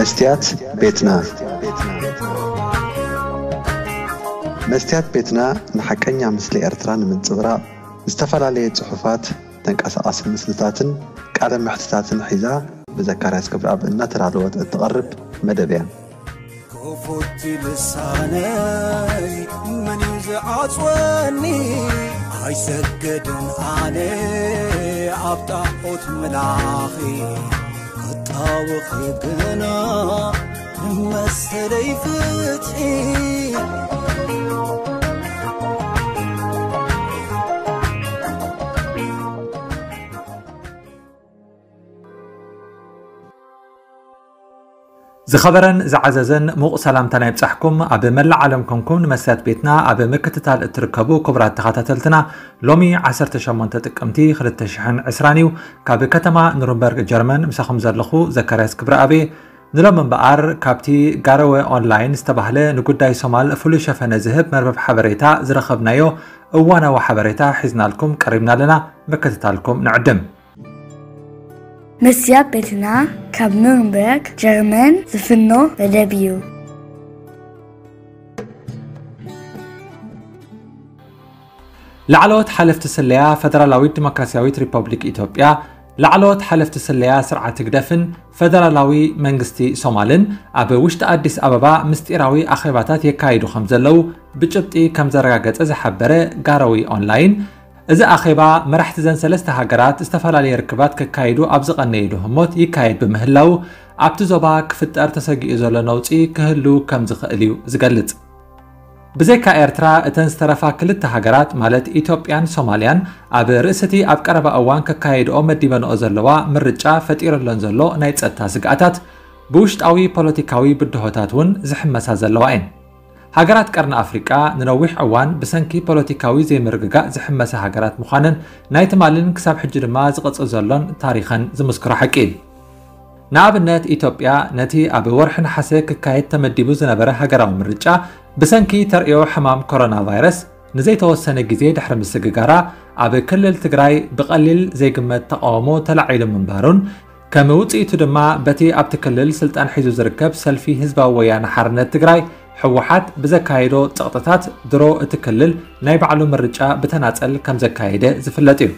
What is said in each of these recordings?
መስትያት ቤትና። መስትያት ቤትና ንሓቀኛ ምስሊ ኤርትራ ንምንጽብራቕ ዝተፈላለየ ጽሑፋት፣ ተንቀሳቓሲ ምስልታትን ቃለ መሕትታትን ሒዛ ብዘካርያስ ክብረኣብ እናተዳለወት እትቐርብ መደብ እያ። ክፉት ልሳነይ መን እዩ ዝዓጽወኒ? ኣይሰገድን ኣነ ኣብ ጣዖት ምላኺ፣ ክጣወኺ ግና ንመሰለይ ፍትሒ። ዝኸበረን ዝዓዘዘን ሙቕ ሰላምታና ይብጻሕኩም። ኣብ መላእ ዓለም ኮንኩም ንመስትያት ቤትና ኣብ ምክትታል እትርከቡ ክቡራት ተኸታተልትና፣ ሎሚ ዓሰርተ ሸሞንተ ጥቅምቲ ክልተ ሽሕን ዕስራን እዩ። ካብ ከተማ ኑርንበርግ ጀርመን ምሳኹም ዘለኹ ዘካርያስ ክብረኣብ እየ። ንሎም እምበኣር ካብቲ ጋረወ ኦንላይን ዝተባህለ ንጉዳይ ሶማል ፍሉይ ሸፈነ ዝህብ መርበብ ሓበሬታ ዝረኸብናዮ እዋናዊ ሓበሬታ ሒዝናልኩም ቀሪብና ኣለና። ምክትታልኩም ንዕድም። መስትያት ቤትና ካብ ኑርንበርግ ጀርመን ዝፍኖ መደብ እዩ። ላዕለዎት ሓለፍቲ ስለያ ፈደራላዊት ዲሞክራስያዊት ሪፐብሊክ ኢትዮጵያ፣ ላዕለዎት ሓለፍቲ ስለያ ስርዓት ህግደፍን ፈደራላዊ መንግስቲ ሶማልን ኣብ ውሽጢ ኣዲስ ኣበባ ምስጢራዊ ኣኼባታት የካይዱ ከም ዘለዉ ብጭብጢ ከም ዘረጋገጸ ዝሓበረ ጋረዊ ኦንላይን፣ እዚ ኣኼባ መራሕቲ ዘን ሰለስተ ሃገራት ዝተፈላለየ ርክባት ከካይዱ ኣብ ዝቐነይሉ ህሞት ይካየድ ብምህላዉ፣ ኣብቲ ዞባ ክፍጠር ተሰጊኡ ዘሎ ነውጺ ክህሉ ከም ዝኽእል እዩ ዝገልጽ። ብዘይካ ኤርትራ፣ እተን ዝተረፋ ክልተ ሃገራት ማለት ኢትዮጵያን ሶማልያን ኣብ ርእሲ እቲ ኣብ ቀረባ እዋን ከካየድኦ መዲበንኦ ዘለዋ ምርጫ ፈጢሩለን ዘሎ ናይ ጸጥታ ስግኣታት ብውሽጣዊ ፖለቲካዊ ብድሆታት እውን ዝሕመሳ ዘለዋ እየን። ሃገራት ቀርኒ ኣፍሪቃ ንነዊሕ እዋን ብሰንኪ ፖለቲካዊ ዘይምርግጋእ ዝሕመሳ ሃገራት ምዃነን ናይ ትማልን ክሳብ ሕጂ ድማ ዝቕጽል ዘሎን ታሪኸን ዝምስክሮ ሓቂ እዩ። ንኣብነት፣ ኢትዮጵያ ነቲ ኣብ ወርሒ ነሓሰ ክካየድ ተመዲቡ ዝነበረ ሃገራዊ ምርጫ ብሰንኪ ተርእዮ ሕማም ኮሮና ቫይረስ ንዘይተወሰነ ግዜ ድሕሪ ምስግጋራ፣ ኣብ ክልል ትግራይ ብቐሊል ዘይግመት ተቓውሞ ተላዒሉ ምንባሩን፣ ከም ውጽኢቱ ድማ በቲ ኣብቲ ክልል ስልጣን ሒዙ ዝርከብ ሰልፊ ህዝባዊ ወያነ ሓርነት ትግራይ፣ ህወሓት፣ ብዘካየዶ ጸቕጥታት ድሮ እቲ ክልል ናይ ባዕሉ ምርጫ ብተናጸል ከም ዘካየደ ዝፍለጥ እዩ።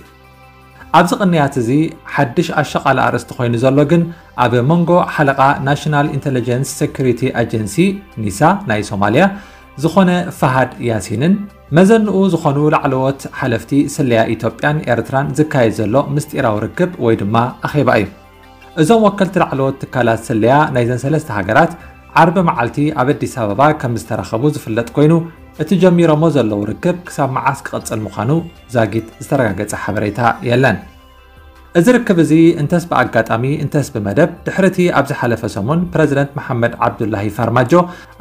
ኣብዚ ቅንያት እዚ ሓድሽ ኣሻቓሊ ኣርእስቲ ኮይኑ ዘሎ ግን፣ ኣብ መንጎ ሓለቓ ናሽናል ኢንተለጀንስ ሴኩሪቲ ኣጀንሲ፣ ኒሳ፣ ናይ ሶማልያ ዝኾነ ፋሃድ ያሲንን መዘንኡ ዝኾኑ ላዕለዎት ሓለፍቲ ስለያ ኢትዮጵያን ኤርትራን ዝካየድ ዘሎ ምስጢራዊ ርክብ ወይ ድማ ኣኼባ እዩ። እዞም ወከልቲ ላዕለዎት ትካላት ስለያ ናይዘን ሰለስተ ሃገራት ዓርቢ መዓልቲ ኣብ ኣዲስ ኣበባ ከም ዝተራኸቡ ዝፍለጥ ኮይኑ፣ እቲ ጀሚሮሞ ዘለዉ ርክብ ክሳብ መዓስ ክቕጽል ምዃኑ ዛጊት ዝተረጋገጸ ሓበሬታ የለን። እዚ ርክብ እዚ እንተስ ብኣጋጣሚ እንተስ ብመደብ፣ ድሕሪ እቲ ኣብ ዝሓለፈ ሰሙን ፕረዚደንት መሓመድ ዓብዱላሂ ፋርማጆ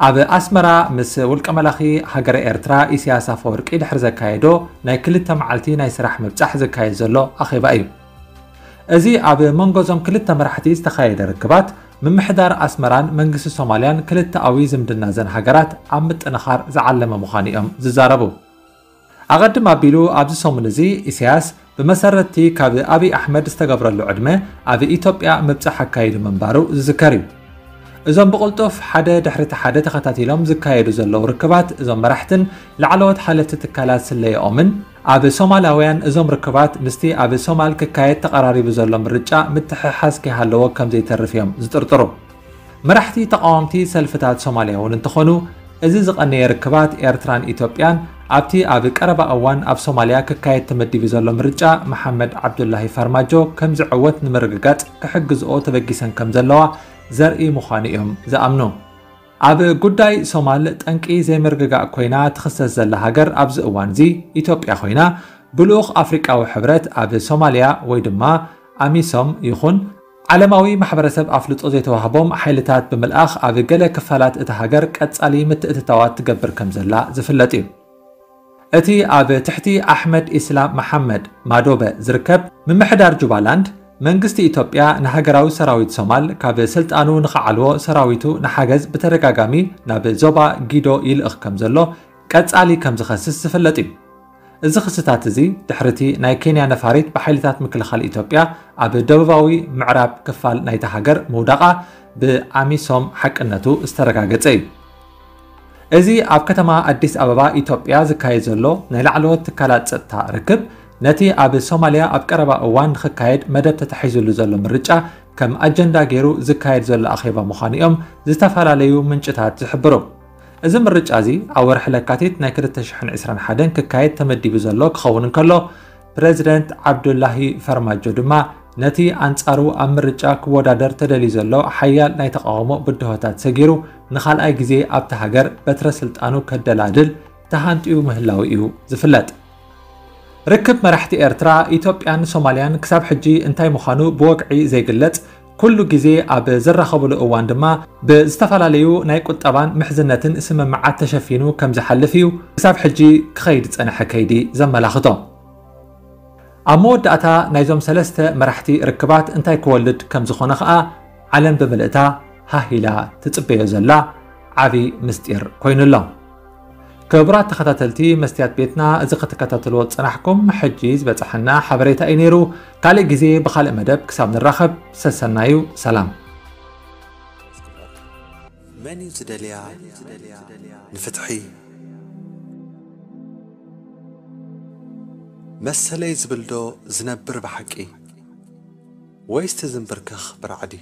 ኣብ ኣስመራ ምስ ውልቀ መላኺ ሃገረ ኤርትራ ኢሳያስ ኣፈወርቂ ድሕሪ ዘካየዶ ናይ ክልተ መዓልቲ ናይ ስራሕ ምብጻሕ ዝካየድ ዘሎ ኣኼባ እዩ። እዚ ኣብ መንጎ እዞም ክልተ መራሕቲ ዝተኻየደ ርክባት፣ ምምሕዳር ኣስመራን መንግስቲ ሶማልያን ክልተኣዊ ዝምድና ዘን ሃገራት ኣብ ምጥንኻር ዝዓለመ ምዃኑ እዮም ዝዛረቡ። ኣቐድም ኣቢሉ ኣብዚ ሰሙን እዚ ኢሳያስ ብመሰረትቲ ካብ ኣብይ ኣሕመድ ዝተገብረሉ ዕድመ ኣብ ኢትዮጵያ ምብጻሕ ኣካይዱ ምንባሩ ዝዝከር እዩ። እዞም ብቕልጡፍ ሓደ ድሕሪ እቲ ሓደ ተኸታቲሎም ዝካየዱ ዘለዉ ርክባት እዞም መራሕትን ላዕለዎት ሓለፍቲ ትካላት ስለየኦምን ኣብ ሶማላውያን እዞም ርክባት ምስቲ ኣብ ሶማል ክካየድ ተቐራሪቡ ዘሎ ምርጫ ምትሕሓዝ ከይሃለዎ ከም ዘይተርፍ እዮም ዝጥርጥሩ። መራሕቲ ተቓወምቲ ሰልፍታት ሶማልያ እውን እንተኾኑ፣ እዚ ዝቐነየ ርክባት ኤርትራን ኢትዮጵያን ኣብቲ ኣብ ቀረባ እዋን ኣብ ሶማልያ ክካየድ ተመዲቡ ዘሎ ምርጫ መሓመድ ዓብዱላሂ ፋርማጆ ከም ዝዕወት ንምርግጋጽ ክሕግዝኦ ተበጊሰን ከም ዘለዋ ዘርኢ ምዃኑ እዮም ዝኣምኑ። ኣብ ጉዳይ ሶማል ጠንቂ ዘይምርግጋእ ኮይና ትኽሰስ ዘላ ሃገር ኣብዚ እዋን እዚ ኢትዮጵያ ኮይና፣ ብልኡኽ ኣፍሪቃዊ ሕብረት ኣብ ሶማልያ ወይ ድማ ኣሚሶም ይኹን ዓለማዊ ማሕበረሰብ ኣፍልጦ ዘይተዋህቦም ሓይልታት ብምልኣኽ ኣብ ገለ ክፋላት እታ ሃገር ቀጻሊ ምትእትታዋት ትገብር ከም ዘላ ዝፍለጥ እዩ። እቲ ኣብ ትሕቲ ኣሕመድ ኢስላም መሓመድ ማዶበ ዝርከብ ምምሕዳር ጁባላንድ፣ መንግስቲ ኢትዮጵያ ንሃገራዊ ሰራዊት ሶማል ካብ ስልጣኑ ንኽዓልዎ ሰራዊቱ ንሓገዝ ብተደጋጋሚ ናብ ዞባ ጊዶ ይልእኽ ከም ዘሎ ቀጻሊ ከም ዝኸስስ ዝፍለጥ እዩ። እዚ ክስታት እዚ ድሕርቲ ናይ ኬንያ ነፋሪት ብሓይልታት ምክልኻል ኢትዮጵያ ኣብ ደቡባዊ ምዕራብ ክፋል ናይታ ሃገር ምውዳቓ ብኣሚሶም ሓቅነቱ ዝተረጋገጸ እዩ። እዚ ኣብ ከተማ ኣዲስ ኣበባ ኢትዮጵያ ዝካየድ ዘሎ ናይ ላዕለዎት ትካላት ጸጥታ ርክብ ነቲ ኣብ ሶማልያ ኣብ ቀረባ እዋን ንክካየድ መደብ ተታሒዙሉ ዘሎ ምርጫ ከም ኣጀንዳ ገይሩ ዝካየድ ዘሎ ኣኼባ ምዃኑ እዮም ዝተፈላለዩ ምንጭታት ዝሕብሩ። እዚ ምርጫ እዚ ኣብ ወርሒ ለካቲት ናይ ክልተ ሽሕን ዕስራን ሓደን ክካየድ ተመዲቡ ዘሎ ክኸውን እንከሎ፣ ፕረዚደንት ዓብዱላሂ ፈርማጆ ድማ ነቲ ኣንጻሩ ኣብ ምርጫ ክወዳደር ተደልዩ ዘሎ ሓያል ናይ ተቓውሞ ብድሆታት ሰጊሩ ንኻልኣይ ግዜ ኣብታ ሃገር በትረ ስልጣኑ ከደላድል ተሃንጥዩ ምህላው እዩ ዝፍለጥ። ርክብ መራሕቲ ኤርትራ፣ ኢትዮጵያን ሶማልያን ክሳብ ሕጂ እንታይ ምዃኑ ብወግዒ ዘይግለጽ፣ ኩሉ ግዜ ኣብ ዝራኸብሉ እዋን ድማ ብዝተፈላለዩ ናይ ቁጠባን ምሕዝነትን ስምምዓት ተሸፊኑ ከም ዝሓልፍ እዩ ክሳብ ሕጂ ክኸይድ ዝጸንሐ ከይዲ ዘመላኽቶ። ኣብ መወዳእታ ናይዞም ሰለስተ መራሕቲ ርክባት እንታይ ክወልድ ከም ዝኾነ ኸኣ ዓለም ብምልእታ ሃህ ኢላ ትጽበዮ ዘላ ዓቢ ምስጢር ኮይኑ ኣሎ። ክቡራት ተኸታተልቲ መስትያት ቤትና፣ እዚ ክትከታተልዎ ዝጸናሕኩም ሕጂ ዝበጻሐና ሓበሬታ እዩ ነይሩ። ካልእ ግዜ ብኻልእ መደብ ክሳብ ንራኸብ ሰሰናዩ ሰላም። መን እዩ ዝደልያ ንፍትሒ? መሰለይ ዝብልዶ ዝነብር ብሓቂ? ወይስ ትዝንብርከኽ ብራዕዲ?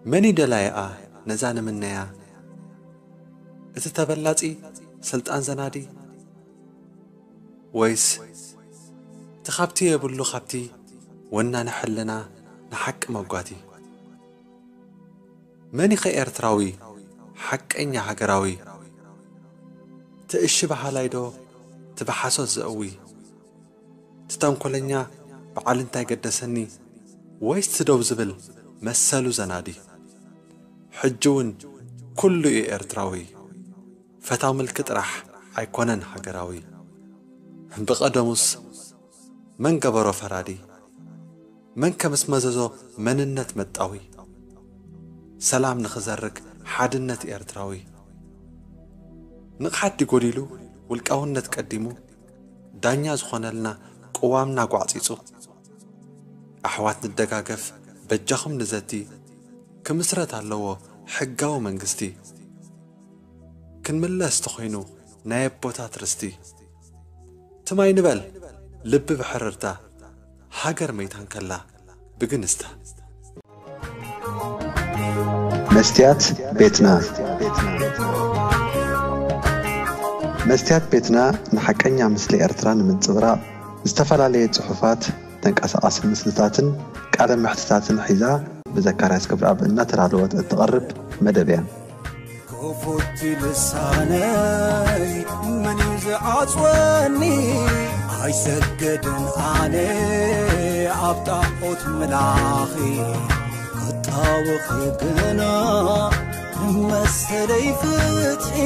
መን እዩ ደላይኣ ነዛ ንምነያ? እቲ ተበላጺ ስልጣን ዘናዲ? ወይስ እቲ ካብቲ የብሉ ካብቲ ወናኒ ሕልና ንሓቂ መጓቲ? መን ኢኸ ኤርትራዊ ሓቀኛ ሃገራዊ? እቲ እሺ በሃላይ ዶ እቲ ብሓሶት ዘእዊ? እቲ ተንኮለኛ በዓል እንታይ ገደሰኒ? ወይስ እቲ ደው ዝብል መሰሉ ዘናዲ? ሕጂ እውን ኩሉ እዩ ኤርትራዊ። ፈታው ምልኪ ጥራሕ ኣይኮነን ሃገራዊ። ብቐደሙስ መን ገበሮ ፈራዲ? መን ከምስ መዘዞ መንነት መጣዊ? ሰላም ንኽዘርግ ሓድነት ኤርትራዊ። ንቕሓት ድዩ ጎዲሉ ውልቃውነት ቀዲሙ? ዳኛ ዝኾነልና ቅዋምና ጓዕጺጹ። ኣሕዋት ንደጋገፍ በጃኹም ንዘቲ። ክምስረት ኣለዎ ሕጋዊ መንግስቲ። ክንምለስ ተኾይኑ ናይ ኣቦታት ርስቲ። ትማይ ንበል ልቢ ብሕርርታ ሃገር መይታ እንከላ ብግንስታ። መስትያት ቤትና መስትያት ቤትና ንሓቀኛ ምስሊ ኤርትራ ንምንጽብራቕ ዝተፈላለየ ጽሑፋት፣ ተንቀሳቓሲ ምስልታትን ቃለ መሕትታትን ሒዛ ብዘካርያስ ክብረኣብ እናተዳለወት እትቐርብ መደብ እያ። ክፉት ልሳነይ መን እዩ ዝዓጽወኒ? ኣይሰገድን ኣነ ኣብ ጣዖት ምላኺ ክጣወኺ ግና መሰለይ ፍትሒ